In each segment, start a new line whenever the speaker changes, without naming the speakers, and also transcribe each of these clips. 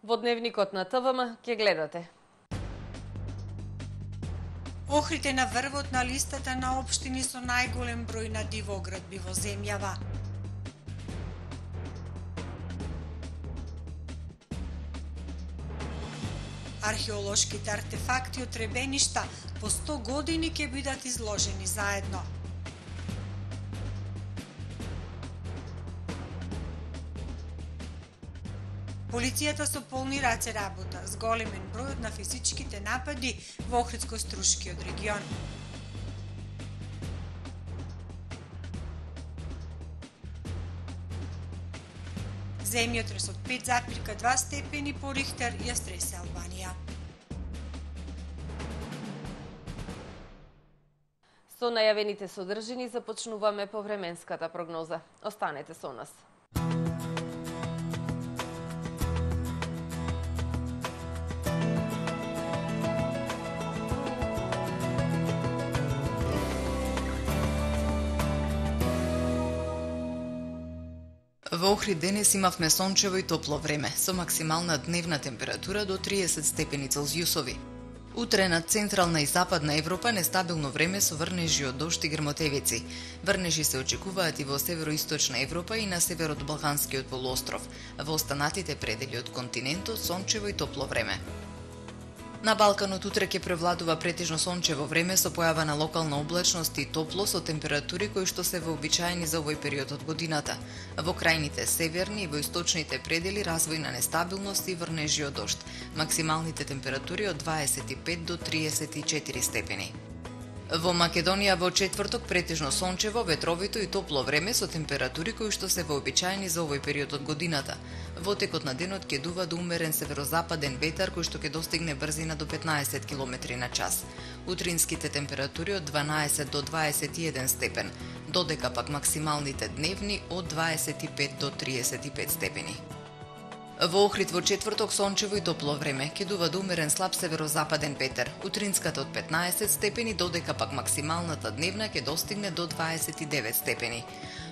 Во дневникот на ТВМ ќе гледате.
Охрид е на врвот на листата на општини со најголем број на дивоградби во земјава. Археолошките артефакти од требеништа по 100 години ќе бидат изложени заедно. Полицијата со полни раце работа, зголемен бројот на физичките напади во Охридско-Струшкиот регион. Земјотрес од 5,2 степени по Рихтер ја стресе Албанија.
Со најавените содржини започнуваме по временската прогноза. Останете со нас.
Во Охрид денес имавме сончево и топло време, со максимална дневна температура до 30 степени Целзиусови. Утре на централна и западна Европа нестабилно време со врнежи од дожд и грмотевици. Врнежи се очекуваат и во североисточна Европа и на север од Балканскиот полуостров. Во останатите предели од континентот сончево и топло време. На Балканот утре ќе превладува претежно сончево време со појава на локална облачност и топло со температури кои што се вообичаени за овој период од годината. Во крајните северни и во источните предели развој на нестабилност и врнежи од дожд. Максималните температури од 25 до 34 степени. Во Македонија во четврток претежно сончево, ветровито и топло време со температури кои што се вообичаени за овој период од годината. Во текот на денот ќе дува до умерен северозападен ветар кој што ќе достигне брзина до 15 км на час. Утринските температури од 12 до 21 степен, додека пак максималните дневни од 25 до 35 степени. Во Охрид во четврток сончево и топло време, ќе дува до умерен слаб северозападен ветер. Утринската од 15 степени, додека пак максималната дневна ќе достигне до 29 степени.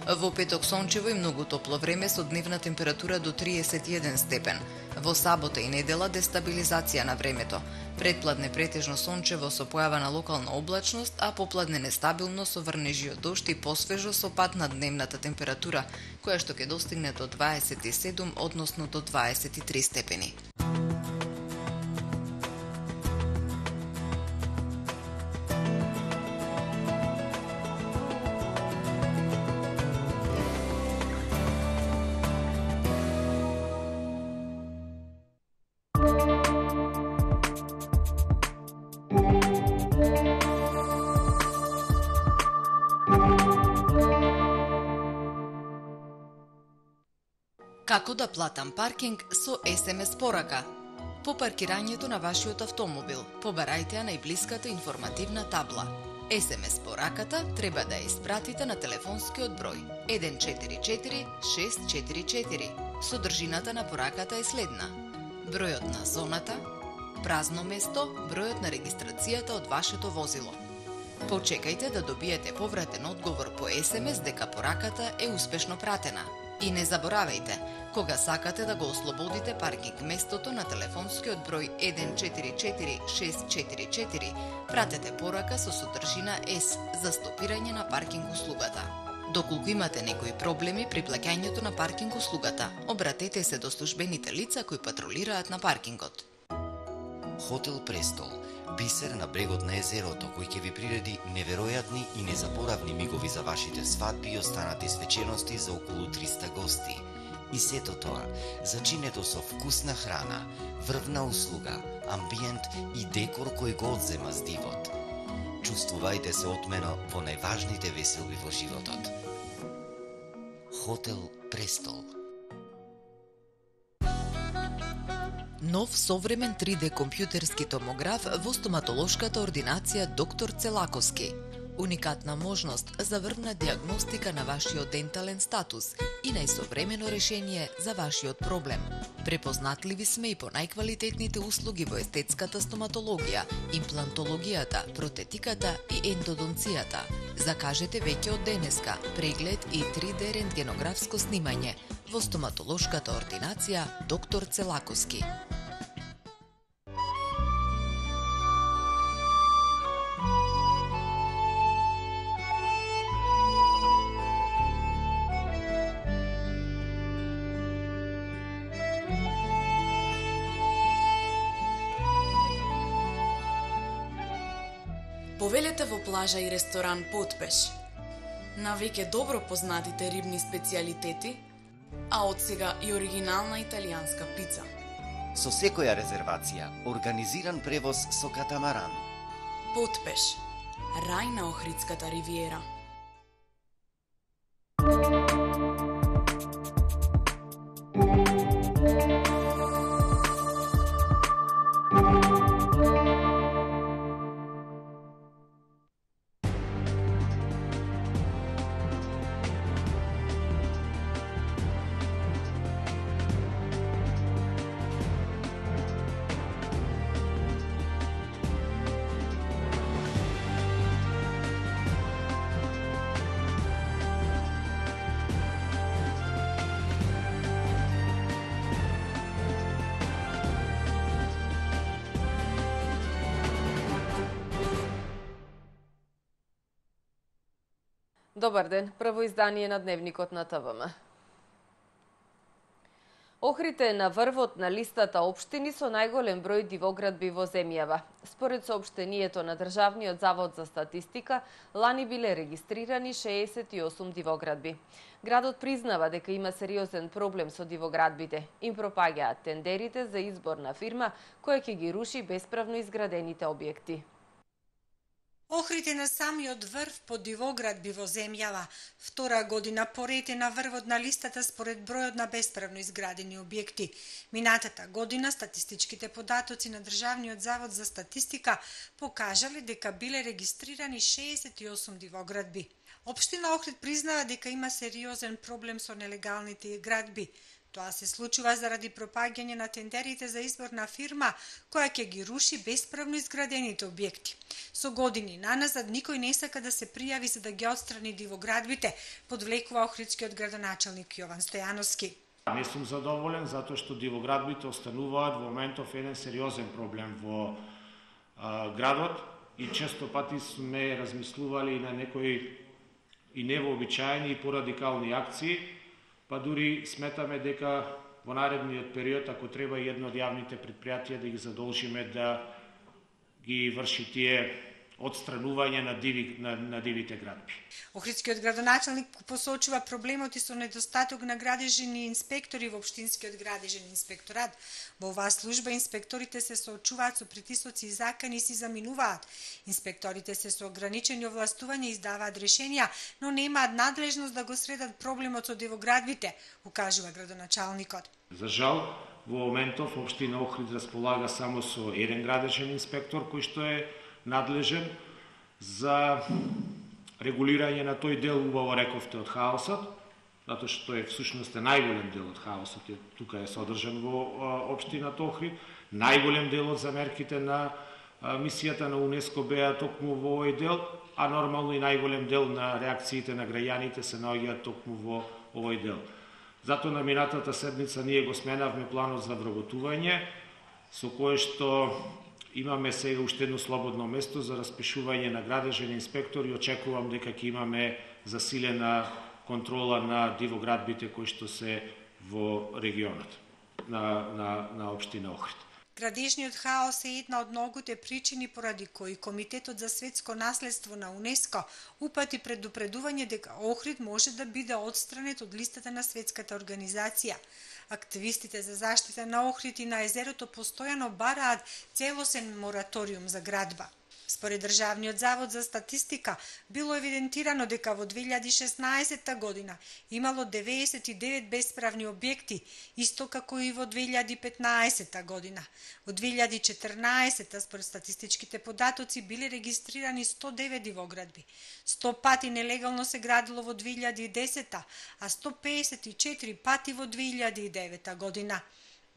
Во петок сончево и многу топло време со дневна температура до 31 степен. Во сабота и недела дестабилизација на времето. Предпладне претежно сончево со појава на локална облачност, а попладне нестабилно со врнежи од дожд и посвежо со пад на дневната температура, која што ќе достигне до 27, односно до 23 степени. Како да платам паркинг со SMS порака? По паркирањето на вашиот автомобил, побарајте ја најблиската информативна табла. SMS пораката треба да ја испратите на телефонскиот број 144644. Содржината на пораката е следна: бројот на зоната, празно место, бројот на регистрацијата од вашето возило. Почекајте да добиете повратен одговор по SMS дека пораката е успешно пратена. И не заборавајте, кога сакате да го ослободите паркинг местото на телефонскиот број 144644, пратете порака со содржина S за стопирање на паркинг услугата. Доколку имате некои проблеми при плаќањето на паркинг услугата, обратете се до службените лица кои патрулираат на паркингот.
Хотел Престол, бисер на брегот на езерото, кој ќе ви приреди неверојатни и незаборавни мигови за вашите свадби и останати свечености за околу 300 гости. И сето тоа, зачинето со вкусна храна, врвна услуга, амбиент и декор кој го одзема с дивот. Чувствувајте се отмено во најважните веселби во животот. Хотел Престол.
Нов современ 3D компјутерски томограф во стоматолошката ординација Доктор Целаковски. Уникатна можност за врвна диагностика на вашиот дентален статус и најсовремено решение за вашиот проблем. Препознатливи сме и по најквалитетните услуги во естетската стоматологија, имплантологијата, протетиката и ендодонцијата. Закажете веќе од денеска преглед и 3D рентгенографско снимање во стоматолошката ординација доктор Целаковски.
Повелете во плажа и ресторан Потпеш. На веќе добро познатите рибни специјалитети, а од сега и оригинална италијанска пица.
Со секоја резервација, организиран превоз со катамаран.
Потпеш. Рај на Охридската ривиера.
Добар ден, прво издание на Дневникот на ТВМ. Охрид е на врвот на листата општини со најголем број дивоградби во земјава. Според соопштението на Државниот завод за статистика, лани биле регистрирани 68 дивоградби. Градот признава дека има сериозен проблем со дивоградбите. Им пропаѓаат тендерите за избор на фирма која ќе ги руши бесправно изградените објекти.
Охрид е на самиот врв по дивоградби во земјава. Втора година поред е на врвот на листата според бројот на бесправно изградени објекти. Минатата година статистичките податоци на Државниот завод за статистика покажале дека биле регистрирани 68 дивоградби. Општина Охрид признава дека има сериозен проблем со нелегалните градби. Тоа се случува заради пропаѓање на тендерите за избор на фирма која ќе ги руши бесправно изградените објекти. Со години наназад никој не сака да се пријави за да ги отстрани дивоградбите, подвлекува охридскиот градоначалник Јован Стојановски.
Не сум задоволен затоа што дивоградбите остануваат во моментов еден сериозен проблем во градот и често пати сме размислували на некои и невообичаени и порадикални акции, па дури сметаме дека во наредниот период, ако треба и едно од јавните предпријатија да ги задолжиме да ги врши тие отстранување на дивите градби.
Охридскиот градоначалник посочува проблемот и со недостаток на градежни инспектори во општинскиот градежен инспекторат. Во оваа служба инспекторите се соочуваат со притисоци и закани и си заминуваат. Инспекторите се со ограничени овластувања и издаваат решенија, но немаат надлежност да го средат проблемот со дивоградбите, укажува градоначалникот.
За жал, во моментов општина Охрид располага само со еден градежен инспектор кој што е надлежен за регулирање на тој дел, убаво рековте, од хаосот, затоа што е всушност најголем дел од хаосот, тука е содржан во општината Охрид, најголем дел од замерките на мисијата на УНЕСКО беа токму во овој дел, а нормално и најголем дел на реакциите на граѓаните се наоѓаат токму во овој дел. Затоа на минатата седмица ние го сменавме планот за вработување, со кое што имаме сега уште едно слободно место за распишување на градежен инспектор и очекувам дека ќе имаме засилена контрола на дивоградбите кои што се во регионот на општина Охрид.
Градежниот хаос е една од многуте причини поради кои Комитетот за светско наследство на УНЕСКО упати предупредување дека Охрид може да биде отстранет од листата на светската организација. Активистите за заштита на Охрид и на езерото постојано бараат целосен мораториум за градба. Според Државниот завод за статистика, било евидентирано дека во 2016 година имало 99 бесправни објекти, исто како и во 2015 година. Во 2014 според статистичките податоци биле регистрирани 109 дивоградби. 100 пати нелегално се градило во 2010, а 154 пати во 2009 година.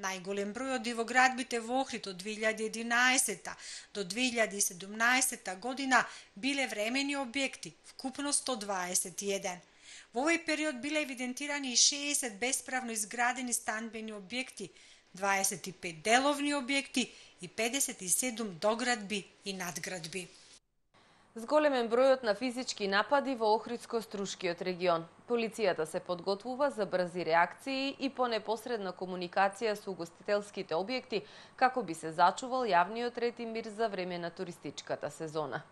Најголем број од дивоградбите во Охрид од 2011 до 2017 година биле времени објекти, вкупно 121. Во овој период биле евидентирани и 60 бесправно изградени станбени објекти, 25 деловни објекти и 57 доградби и надградби.
Зголемен бројот на физички напади во Охридско-Струшкиот регион. Полицијата се подготвува за брзи реакции и по непосредна комуникација со угостителските објекти како би се зачувал јавниот ред и мир за време на туристичката сезона.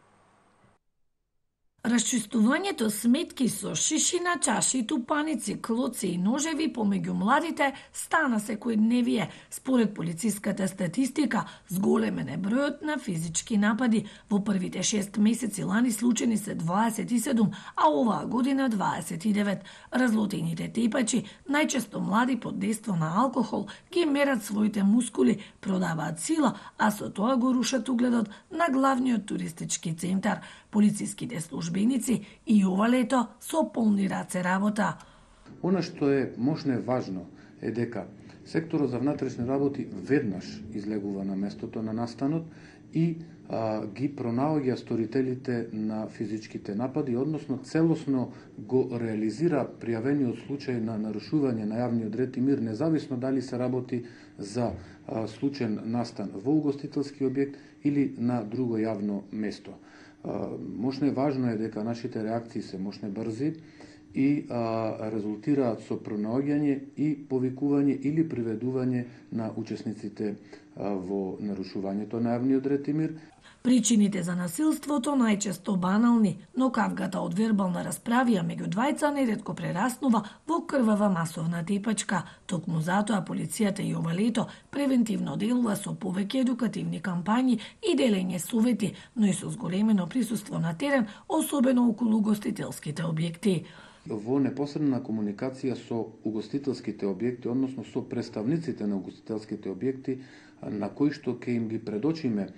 Расчистувањето сметки со шишина, чаши, тупаници, клоци и ножеви помеѓу младите стана секојдневие. Според полициската статистика, зголемен е бројот на физички напади. Во првите 6 месеци лани случаи се 27, а оваа година 29. Разлутените тепачи, најчесто млади под дејство на алкохол, ги мерат своите мускули, продаваат сила, а со тоа го рушат угледот на главниот туристички центар. Полициските службеници и ова лето со полни раце работа.
Она што е можно е важно е дека секторот за внатрешни работи веднаш излегува на местото на настанот и ги пронаоѓа сторителите на физичките напади, односно целосно го реализира пријавениот случај на нарушување на јавниот ред и мир, независно дали се работи за случаен настан во угостителски објект или на друго јавно место. Можно е важно е дека нашите реакции се можно брзи и резултираат со пронаоѓање и повикување или приведување на учесниците во нарушувањето на јавниот ред и мир.
Причините за насилството најчесто банални, но кавгата од вербална расправија меѓу двајца неретко прераснува во крвава масовна тепачка. Токму затоа полицијата и ова лето превентивно делува со повеќе едукативни кампањи и делење совети, но и со зголемено присуство на терен, особено околу угостителските објекти.
Во непосредна комуникација со угостителските објекти, односно со представниците на угостителските објекти, на кои што ќе им ги предочиме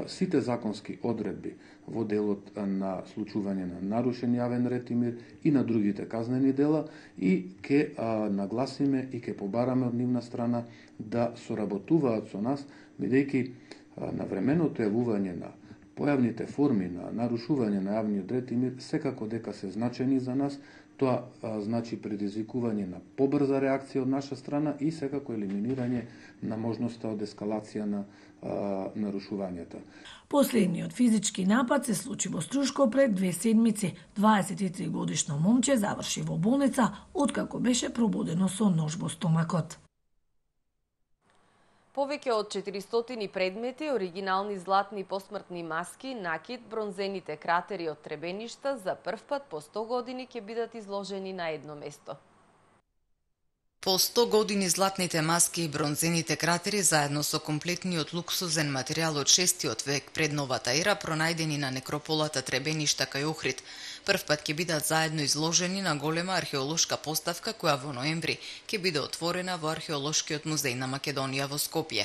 сите законски одредби во делот на случување на нарушен јавен ред и мир и на другите казнени дела и ќе нагласиме и ќе побараме од нивна страна да соработуваат со нас, бидејќи навременото јавување на појавните форми на нарушување на јавниот ред и мир секако дека се значени за нас. Тоа значи предизвикување на побрза реакција од наша страна и секако елиминирање на можноста од ескалација на нарушувањата.
Последниот физички напад се случи во Струшко пред 2 седмици. 23 годишно момче заврши во болница откако беше пробудено со нож во стомакот.
Повеќе од 400 предмети, оригинални златни посмртни маски, накид, бронзените кратери од требеништа за прв пат по 100 години ќе бидат изложени на едно место.
По 100 години златните маски и бронзените кратери заедно со комплетниот луксузен материјал од 6-тиот век пред новата ера пронајдени на некрополата Требеништа кај Охрид, прв пат ќе бидат заедно изложени на голема археолошка поставка која во ноември ќе биде отворена во Археолошкиот музеј на Македонија во Скопје.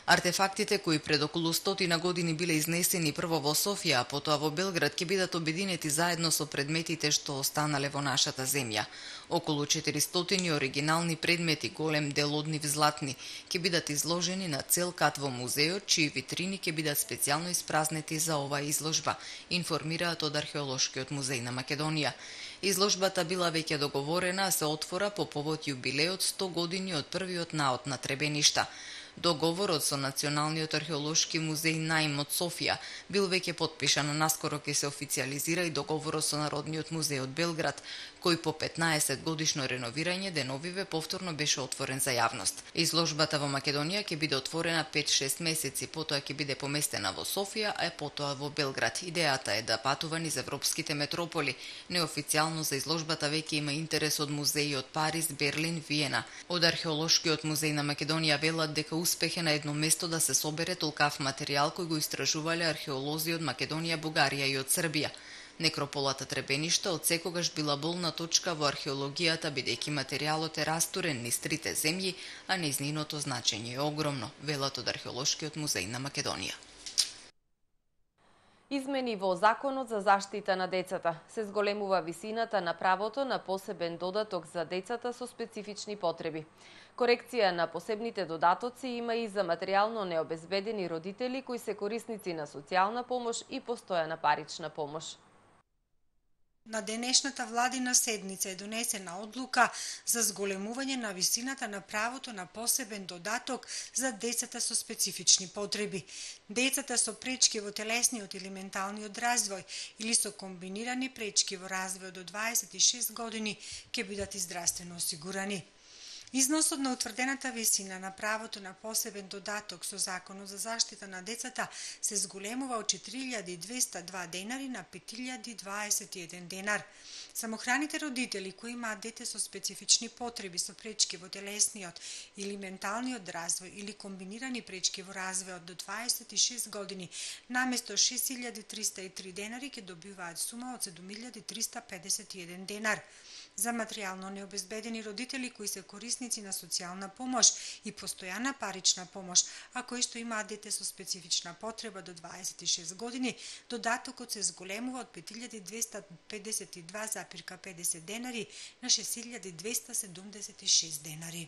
Артефактите кои пред околу 100 години биле изнесени прво во Софија, а потоа во Белград ќе бидат обединети заедно со предметите што останале во нашата земја. Околу 400 оригинални предмети, голем дел од нив златни, ќе бидат изложени на цел кат во музеот, чии витрини ќе бидат специјално испразнети за оваа изложба, информираат од Археолошкиот музеј на Македонија. Изложбата била веќе договорена, а се отвора по повод јубилеот 100 години од првиот наод на Требеништа. Договорот со Националниот археолошки музеј наим од Софија бил веќе потпишан, а наскоро ќе се официјализира и договорот со Народниот музеј од Белград, кој по 15 годишно реновирање деновиве повторно беше отворен за јавност. Изложбата во Македонија ќе биде отворена 5-6 месеци, потоа ќе биде поместена во Софија, а потоа во Белград. Идејата е да патува низ европските метрополи. Неофицијално за изложбата веќе има интерес од музеи од Париз, Берлин, Виена. Од Археолошкиот музеј на Македонија велат дека успех е на едно место да се собере толкав материјал кој го истражувале археолози од Македонија, Бугарија и од Србија. Некрополата Требеништа од секогаш била болна точка во археологијата, бидејќи материјалот е растурен низ трите земји, а нејзиното значење е огромно, велат од Археолошкиот музеј на Македонија.
Измени во Законот за заштита на децата. Се зголемува висината на правото на посебен додаток за децата со специфични потреби. Корекција на посебните додатоци има и за материјално необезбедени родители кои се корисници на социјална помош и постојана парична помош.
На денешната владина седница е донесена одлука за зголемување на висината на правото на посебен додаток за децата со специфични потреби. Децата со пречки во телесниот или менталниот развој или со комбинирани пречки во развојот до 26 години ќе бидат и здравствено осигурани. Износот на утврдената висина на правото на посебен додаток со Законот за заштита на децата се зголемува од 4.202 денари на 5.021 денар. Самохраните родители кои имаат дете со специфични потреби со пречки во телесниот или менталниот развој или комбинирани пречки во развојот до 26 години, наместо 6.303 денари ќе добиваат сума од 7.351 денар. За материјално необезбедени родители кои се корисници на социјална помош и постојана парична помош, а кои што имаат дете со специфична потреба до 26 години, додатокот се зголемува од 5.252,50 денари на 6.276 денари.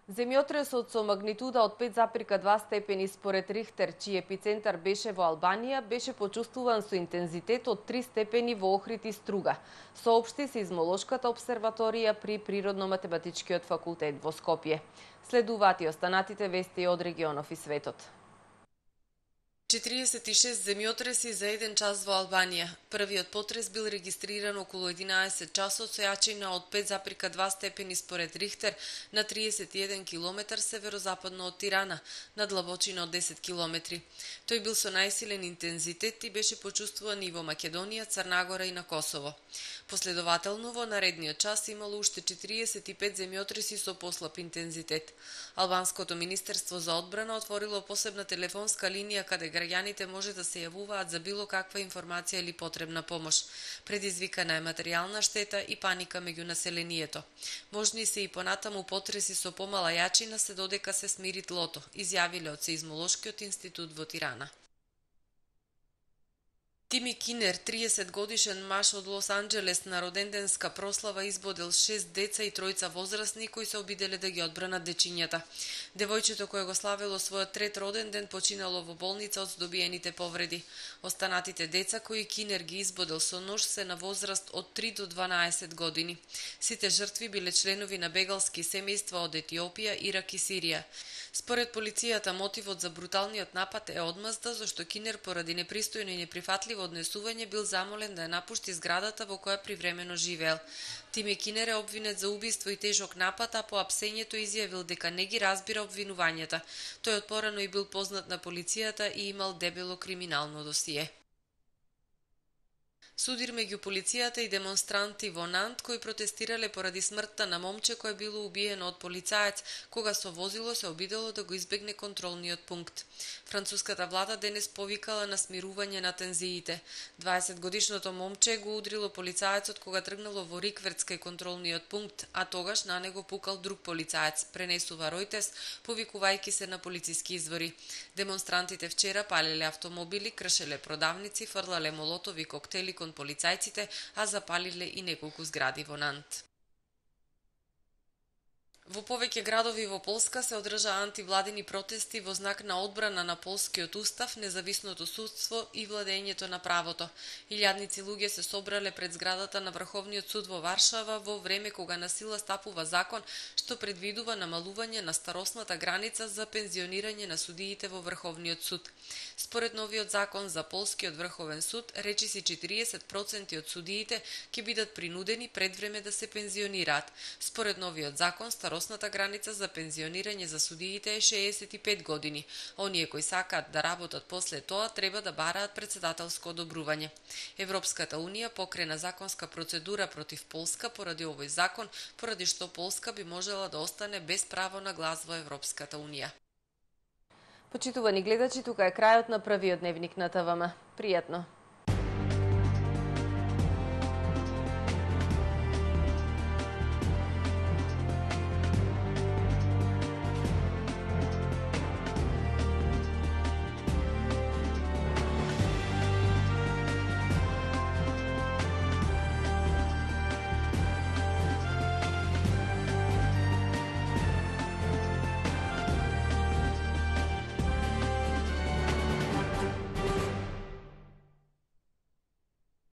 Земјотресот со магнитуда од 5,2 степени според Рихтер, чиј епицентар беше во Албанија, беше почувствуван со интензитет од 3 степени во Охрид и Струга, соопшти Сеизмолошката обсерваторија при Природно-математичкиот факултет во Скопје. Следуваат и останатите вести од регионов и светот. 46 земјотреси за 1 час во Албанија. Првиот потрес бил регистриран околу 11 часот со јачина од 5,2 степени според Рихтер на 31 км северозападно од Тирана, на длабочина од 10 км. Тој бил со најсилен интензитет и беше почувствуван и во Македонија, Црнагора и на Косово. Последователно во наредниот час имало уште 45 земјотреси со послаб интензитет. Албанското министерство за одбрана отворило посебна телефонска линија каде граѓаните може да се јавуваат за било каква информација или потребна помош. Предизвикана е материјална штета и паника меѓу населението. Можни се и понатаму потреси со помала јачина се додека се смири тлото, изјавиле од Сеизмолошкиот институт во Тирана. Тими Кинер, 30 годишен маж од Лос Анџелес, на роденденска прослава избодел 6 деца и 3 возрастни кои се обиделе да ги одбранат дечињата. Девојчето кое го славело својот трет роден ден починало во болница од здобиените повреди. Останатите деца кои Кинер ги избодел со нож се на возраст од 3 до 12 години. Сите жртви биле членови на бегалски семејства од Етиопија, Ирак и Сирија. Според полицијата, мотивот за бруталниот напад е одмазда, зашто Кинер поради непристојно и неприфатливо однесување бил замолен да ја напушти зградата во која привремено живеел. Тими Кинер е обвинет за убиство и тежок напад, а по апсењето изјавил дека не ги разбира обвинувањата. Тој отпорано и бил познат на полицијата и имал дебело криминално досие. Судир меѓу полицијата и демонстранти во Нант кои протестирале поради смртта на момче кое било убиено од полицаец кога со возило се обидело да го избегне контролниот пункт. Француската влада денес повикала на смирување на тензиите. 20-годишното момче го удрило полицаецот кога тргнало во рикверц кај контролниот пункт, а тогаш на него пукал друг полицаец, пренесува Ројтес, повикувајќи се на полициски извори. Демонстрантите вчера палеле автомобили, кршеле продавници, фрлале молотови коктели кон полицајците, а запалиле и неколку згради во Нант. Во повеќе градови во Полска се одржаа антивладини протести во знак на одбрана на полскиот устав, независното судство и владењето на правото. Илјадници луѓе се собрале пред зградата на Врховниот суд во Варшава во време кога на сила стапува закон што предвидува намалување на старосната граница за пензионирање на судиите во Врховниот суд. Според новиот закон за полскиот Врховен суд, речиси 40% од судиите ќе бидат принудени пред време да се пензионираат. Според новиот закон, старосната граница за пензионирање за судиите е 65 години. Оние кои сакаат да работат после тоа треба да бараат председателско одобрување. Европската унија покрена законска процедура против Полска поради овој закон, поради што Полска би можела да остане без право на глас во Европската унија. Почитувани гледачи, тука е крајот на првиот дневник на ТВМ. Пријатно!